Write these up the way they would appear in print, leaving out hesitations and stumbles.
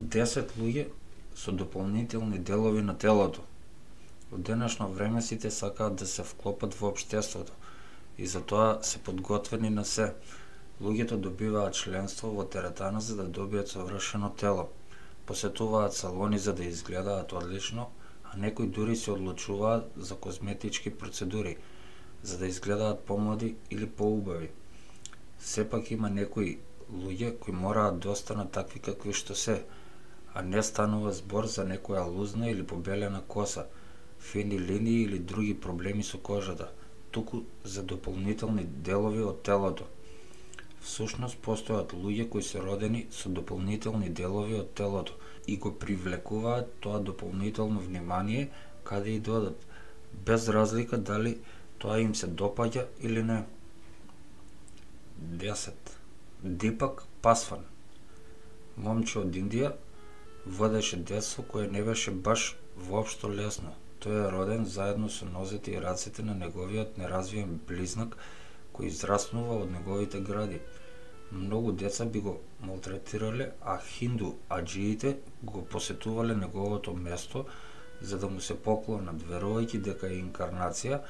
10 луѓе со дополнителни делови на телото. Во денешно време сите сакаат да се вклопат во општеството и затоа се подготвени на се. Луѓето добиваат членство во теретана за да добијат совршено тело. Посетуваат салони за да изгледаат одлично, а некои дури се одлучуваат за козметички процедури, за да изгледаат помлади или поубави. Сепак има некои луѓе кои мораат да останат такви какви што се, а не станува збор за некоја лузна или побелена коса, фини линии или други проблеми со кожата, туку за дополнителни делови од телото. Всушност постојат луѓе кои се родени со дополнителни делови од телото и го привлекуваат тоа дополнително внимание каде и додат, без разлика дали тоа им се допаѓа или не. 10. Дипак Пасван. Момче од Индија водеше детство кое не беше баш воопшто лесно. Тој е роден заедно со нозете и рацете на неговиот неразвиен близнак кој израснува од неговите гради. Многу деца би го малтретирале, а хинду аџиите го посетувале неговото место за да му се поклонат, верувајќи дека е инкарнација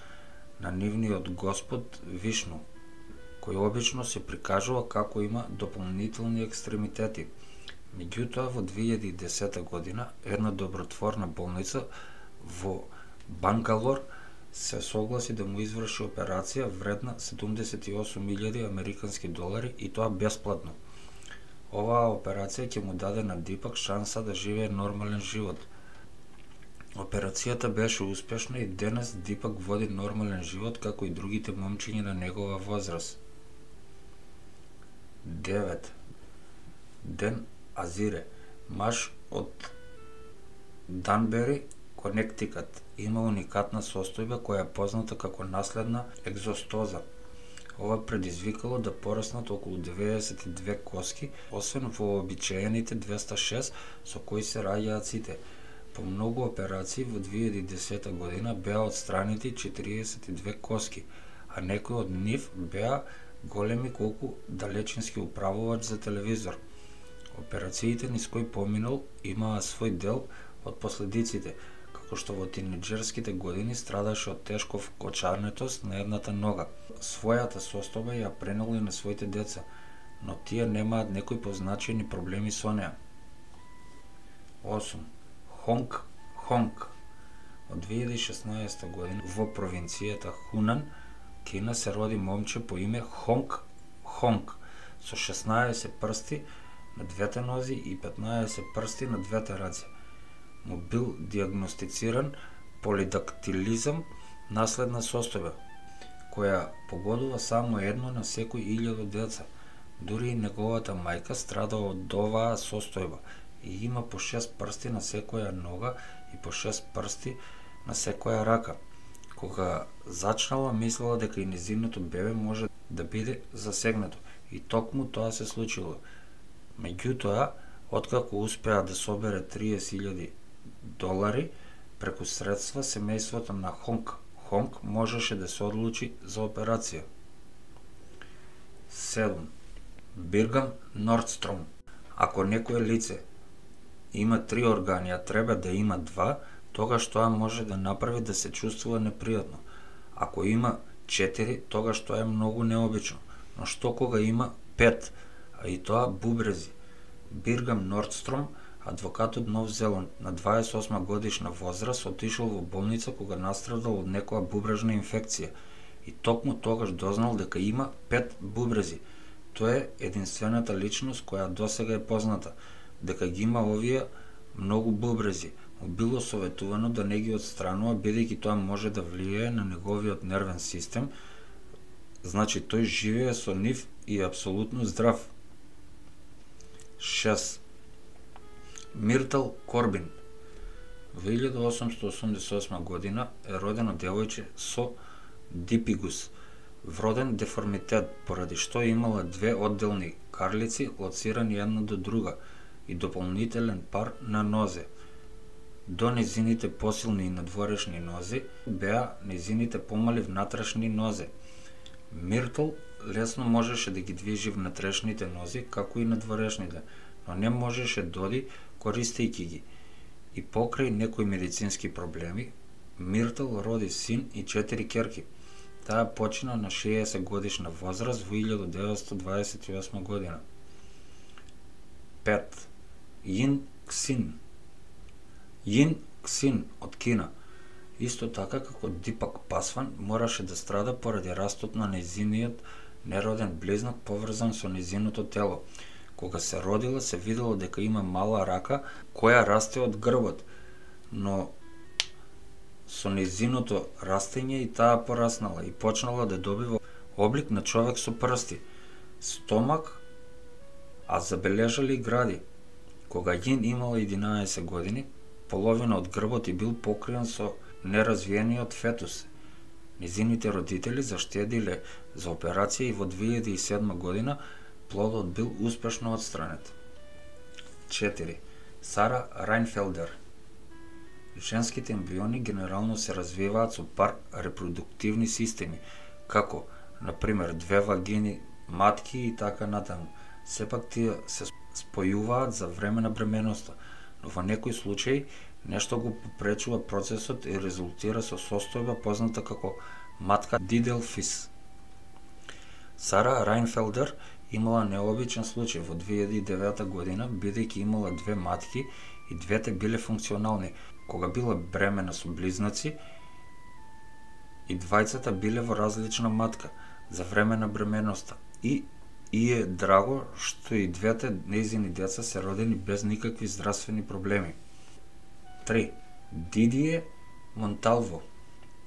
на нивниот Господ Вишну, кој обично се прикажува како има дополнителни екстремитети. Меѓутоа, во 2010 година, една добротворна болница во Бангалор се согласи да му изврши операција вредна 78.000 американски долари и тоа бесплатно. Оваа операција ќе му даде на Дипак шанса да живее нормален живот. Операцијата беше успешна и денес Дипак води нормален живот како и другите момчиња на негова возраст. 9. Ден Азире, маж од Данбери, Конектикат, има уникатна состојба која е позната како наследна екзостоза. Ова предизвикало да пораснат околу 92 коски, освен во обичаените 206 со кои се раѓаат сите. По многу операции во 2010 година беа отстранити 42 коски, а некои од нив беа големи колку далечински управувач за телевизор. Операциите низ кои поминал имаа свој дел од последиците, како што во тинеџерските години страдаше од тешко вкочанетост на едната нога. Својата состојба ја пренел и на своите деца, но тие немаат некои позначени проблеми со неа. 8. Хонг Хонг. Од 2016 година во провинцијата Хунан, Кина, се роди момче по име Хонг Хонг со 16 прсти на двете нози и 15 прсти на двете раце. Му бил диагностициран полидактилизам, наследна состојба, која погодува само едно на секој 1000 деца. Дури и неговата мајка страда од оваа состојба и има по 6 прсти на секоја нога и по 6 прсти на секоја рака. Кога зачнала, мислела дека и незиното бебе може да биде засегнато и токму тоа се случило. Меѓутоа, откако успеа да собере 30.000 долари преку средства, семејството на Хонг Хонг можеше да се одлучи за операција. 7. Биргам Нордстром. Ако некое лице има 3 органи, а треба да има 2, тогаш тоа може да направи да се чувствува непријатно. Ако има 4, тогаш тоа е многу необично. Но што кога има 5, а и тоа бубрези? Биргам Нордстром, адвокат од Нов Зеланд, на 28 годишна возраст, отишол во болница кога настрадал од некоја бубрежна инфекција и токму тогаш дознал дека има 5 бубрези. Тоа е единствената личност која досега е позната, дека ги има овие многу бубрези. Му било советувано да не ги отстранува, бидејќи тоа може да влијае на неговиот нервен систем, значи тој живее со нив и е апсолутно здрав. 6. Миртл Корбин. Во 1888 година е родено девојче со дипигус, вроден деформитет, поради што имала 2 одделни карлици лоцирани една до друга и дополнителен пар на нозе. До незините посилни и надворешни нози беа незините помали внатрешни нозе. Миртл лесно можеше да ги движи внатрешните нози, како и надворешните, но не можеше доди користејќи ги. И покрај некои медицински проблеми, Миртл роди син и 4 ќерки. Таа почина на 60 годишна возраст во 1928 година. 5. Јин Ксин. Јин Ксин од Кина, исто така како Дипак Пасван, мораше да страда поради растот на нејзиниот нероден близнак поврзан со нејзиното тело. Кога се родила, се видело дека има мала рака која расте од грбот, но со нејзиното растење и таа пораснала и почнала да добива облик на човек со прсти, стомак, а забележали и гради. Кога Јин имала 11 години, половина од грбот и бил покриен со неразвиениот фетус. Незините родители заштедиле за операција и во 2007 година плодот бил успешно отстранет. 4. Сара Рајнфелдер. Женските ембриони генерално се развиваат со пар репродуктивни системи, како, например, 2 вагини, матки и така натаму. Сепак тие се спојуваат за време на бременоста, но во некои случаи нешто го попречува процесот и резултира со состојба позната како матка Диделфис. Сара Рајнфелдер имала необичен случај во 2009 година, бидејќи имала 2 матки и двете биле функционални. Кога била бремена со близнаци, и двајцата биле во различна матка за време на бременоста и е драго што и двете нејзини деца се родени без никакви здравствени проблеми. 3. Дидие Монталво.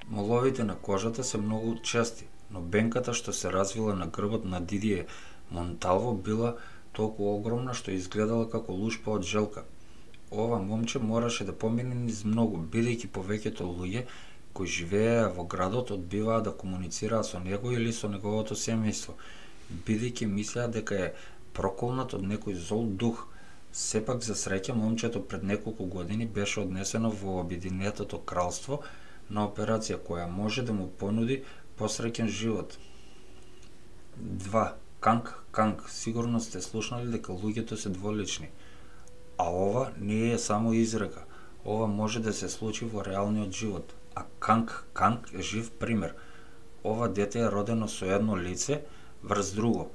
Моловите на кожата се многу чести, но бенката што се развила на грбот на Дидие Монталво била толку огромна што изгледала како лушпа од желка. Ова момче мораше да помине низ многу, бидејќи повеќето луѓе кои живееа во градот одбиваа да комуницираат со него или со неговото семејство, бидејќи мислеа дека е проколнат од некој зол дух. Сепак, за среќа, момчето пред неколку години беше однесено во Обединетото кралство на операција која може да му понуди посреќен живот. 2. Канг Канг. Сигурно сте слушнали дека луѓето се дволични. А ова не е само изрека. Ова може да се случи во реалниот живот. А Канг Канг е жив пример. Ова дете е родено со едно лице врз друго.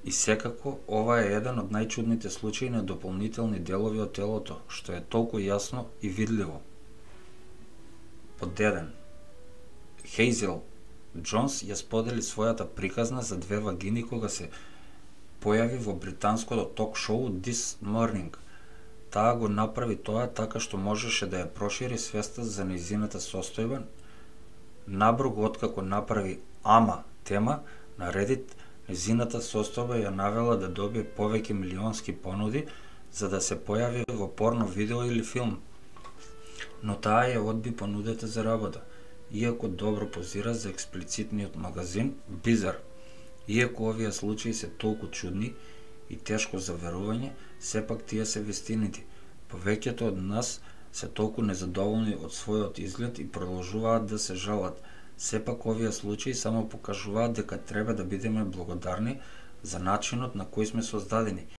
И секако, ова е еден од најчудните случаи на дополнителни делови од телото, што е толку јасно и видливо. Под 1. Хейзел Джонс ја сподели својата приказна за 2 вагини кога се појави во британското ток-шоу This Morning. Таа го направи тоа така што можеше да ја прошири свеста за нејзината состојба. Набрзо откако направи Ама тема на Reddit, нејзината состојба ја навела да добие повеќе милионски понуди за да се појави во порно видео или филм. Но таа ја одби понудата за работа, иако добро позира за експлицитниот магазин Bizarre. Иако овие случаи се толку чудни и тешко за верување, сепак тие се вистините. Повеќето од нас се толку незадоволни од својот изглед и продолжуваат да се жалат. Сепак овие случаи само покажуваат дека треба да бидеме благодарни за начинот на кој сме создадени